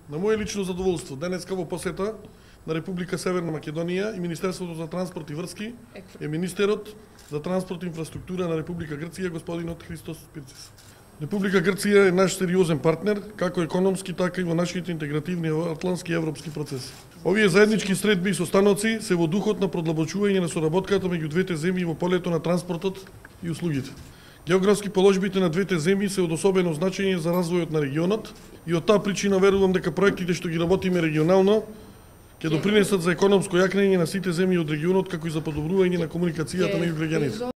На моје лично задоволство, денеска во посета на Република Северна Македонија и Министерството за транспорт и врски е министерот за транспорт и инфраструктура на Република Грција, господинот Христос Пирцис. Република Грција е наш сериозен партнер, како економски, така и во нашите интегративни атлантски и европски процеси. Овие заеднички средби и состаноци се во духот на продлабочување на соработката меѓу двете земји во полето на транспортот и услугите. Географски положбите на двете земји се од особено значење за развојот на регионот и од таа причина верувам дека проектите што ги работиме регионално ќе допринесат за економско јакнење на сите земји од регионот, како и за подобрување на комуникацијата меѓу граѓаните.